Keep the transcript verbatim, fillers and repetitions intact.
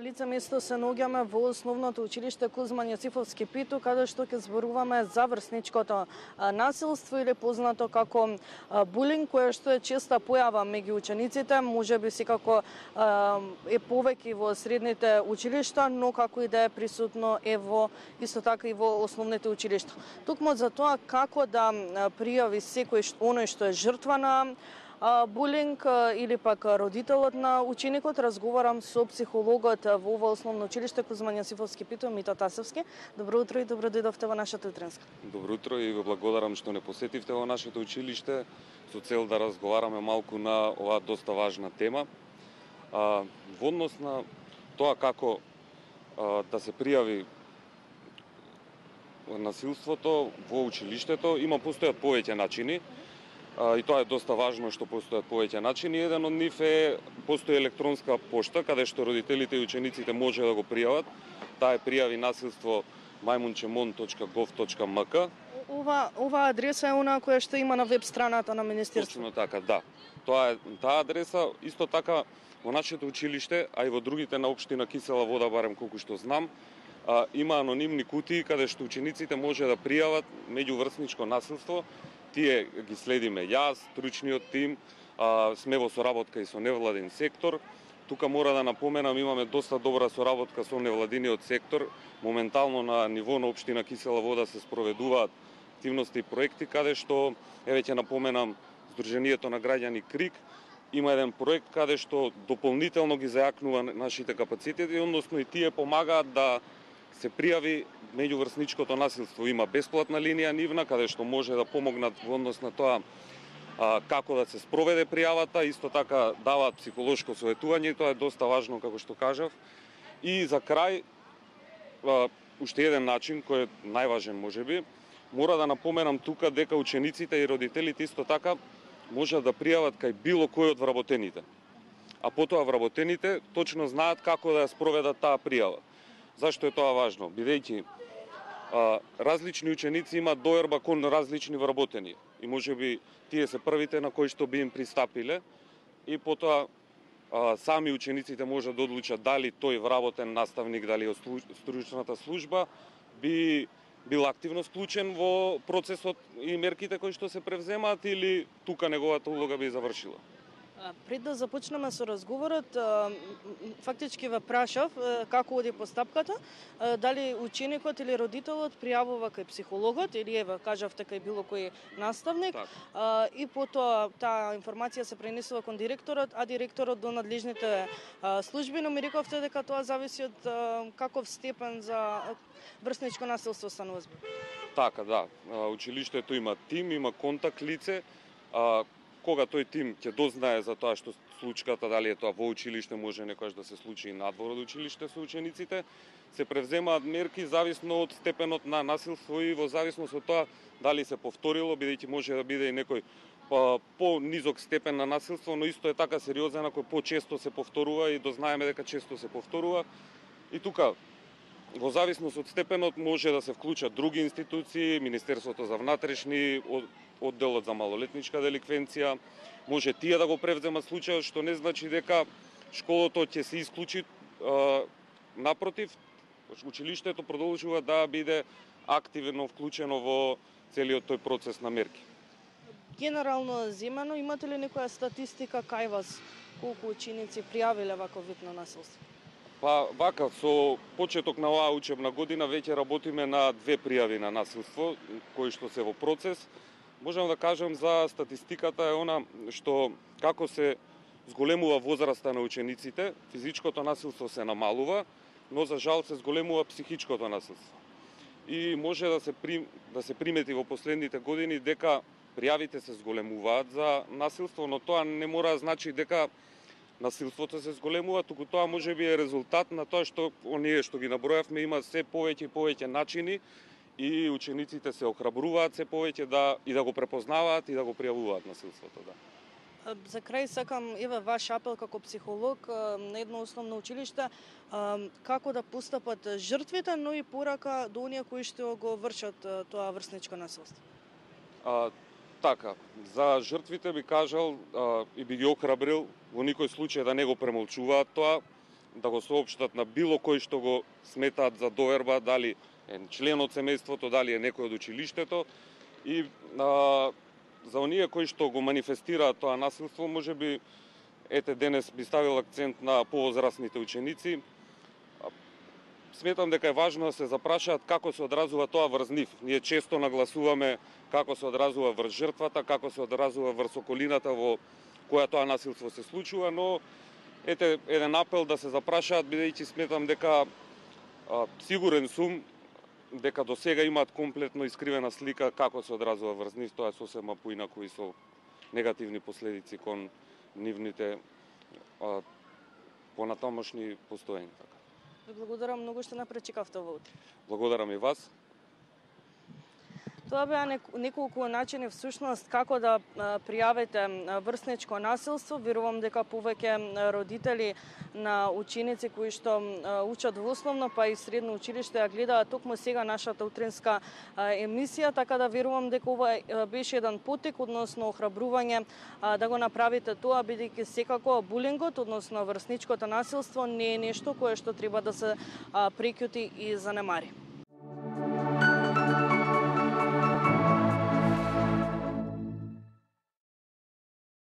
лице место се наоѓаме во основното училиште Кузман Јосифовски Питу, каде што ќе зборуваме за врсничкото насилство или познато како булинг, кое што е честа појава меѓу учениците, можеби секако е повеќе во средните училишта, но како и да е присутно е во исто така и во основните училишта. Токму за тоа како да пријави секој оној што е жртва на булинг или пак родителот на ученикот, разговарам со психологот во ова основно училиште Кузман Јосифовски Питу, Мито Тасевски. Добро утро и добро дојдовте во нашата утренска. Добро утро и ве благодарам што не посетивте во нашето училиште со цел да разговараме малку на оваа доста важна тема. А, во однос на тоа како а, да се пријави насилството во училиштето, има постојат повеќе начини. И тоа е доста важно што постојат повеќе начини. Еден од нив е постои електронска пошта каде што родителите и учениците може да го пријават. Таа е пријави насилство мајмунчемон точка гов точка ем ка. Ова ова адреса е она која што има на веб страната на министерството. Точно така, да. Тоа е таа адреса, исто така во нашето училиште, а и во другите на општина Кисела Вода, барем колку што знам, а, има анонимни кутии каде што учениците може да пријават меѓуврсничко насилство. Тие ги следиме јас, стручниот тим, а, сме во соработка и со невладин сектор. Тука мора да напоменам, имаме доста добра соработка со невладиниот сектор. Моментално на ниво на општина Кисела Вода се спроведуваат активности и проекти каде што, еве ќе напоменам, Сдруженијето на граѓани Крик има еден проект каде што дополнително ги зајакнува нашите капацитети, односно и тие помагаат да се пријави меѓуврсничкото насилство. Има бесплатна линија нивна каде што може да помогнат во однос на тоа а, како да се спроведе пријавата, исто така даваат психолошко советување и тоа е доста важно како што кажав. И за крај а, уште еден начин кој е најважен можеби, мора да напоменам тука дека учениците и родителите исто така можат да пријават кај било кој од вработените. А потоа вработените точно знаат како да ја спроведат таа пријава. Зашто е тоа важно? Бидејќи а, различни ученици имаат доерба кон различни вработени и можеби тие се првите на кои што би им пристапиле и потоа а, сами учениците можат да одлучат дали тој вработен наставник, дали од стручната служба би бил активно вклучен во процесот и мерките кои што се превземаат или тука неговата улога би завршила. Пред да започнеме со разговорот, фактички ве прашав како оди постапката, дали ученикот или родителот пријавува кај психологот или еве кажавте кај било кој наставник, так. И потоа таа информација се пренесува кон директорот, а директорот до надлежните служби, но ми рековте дека тоа зависи од каков степен за врсничко насилство станува збор. Така, да. Училиштето има тим, има контакт лице, кога тој тим ќе дознае за тоа што случката, дали е тоа во училиште, може некојаш да се случи и надвор од училиште со учениците, се превземаат мерки зависно од степенот на насилство и во зависност од тоа дали се повторило, бидејќи може да биде и некој по, по низок степен на насилство, но исто е така сериозен ако по-често се повторува и дознаеме дека често се повторува. И тука во зависност од степенот може да се вклучат други институции, Министерството за внатрешни, одделот за малолетничка деликвенција, може тие да го превземат случајот, што не значи дека школото ќе се исклучи. Напротив, училиштето продолжува да биде активно вклучено во целиот тој процес на мерки. Генерално земано, имате ли некоја статистика кај вас колку ученици пријавиле ваков вид на насилство? Па вака, со почеток на оваа учебна година веќе работиме на две пријави на насилство кои што се во процес. Можам да кажам за статистиката е она што како се зголемува возраста на учениците, физичкото насилство се намалува, но за жал се зголемува психичкото насилство. И може да се при, да се примети во последните години дека пријавите се зголемуваат за насилство, но тоа не мора да значи дека насилството се зголемува, туку тоа може би е резултат на тоа што оние што ги набројавме има се повеќе и повеќе начини и учениците се охрабруваат се повеќе да и да го препознаваат и да го пријавуваат насилството, да. За крај сакам еве ваш апел како психолог на едно основно училиште како да постапат жртвите, но и порака до оние кои што го вршат тоа врсничко насилство. А, така, за жртвите би кажал а, и би ги охрабрил во никој случај да не го премолчуваат тоа, да го соопштат на било кој што го сметаат за доверба, дали е член од семејството, дали е некој од училиштето. И а, за оние кои што го манифестираат тоа насилство, можеби ете денес би ставил акцент на повозрастните ученици. Сметам дека е важно да се запрашаат како се одразува тоа врз нив. Ние често нагласуваме како се одразува врз жртвата, како се одразува врз околината во која тоа насилство се случува, но ете еден апел да се запрашаат, бидејќи сметам дека а, сигурен сум дека до сега имаат комплетно искривена слика како се одразува врз нив, тоа е сосема поинаку и со негативни последици кон нивните а, понатамошни постоења. Ви благодарам многу што напречекавте во утре. Благодарам и вас. Тоа беа неколку начини всушност како да пријавите врсничко насилство. Верувам дека повеќе родители на ученици кои што учат во основно па и средно училиште ја гледаат токму сега нашата утринска емисија, така да верувам дека ова беше еден потик, односно охрабрување да го направите тоа, бидејќи секако булингот, односно врсничкото насилство не е нешто кое што треба да се преќути и занемари.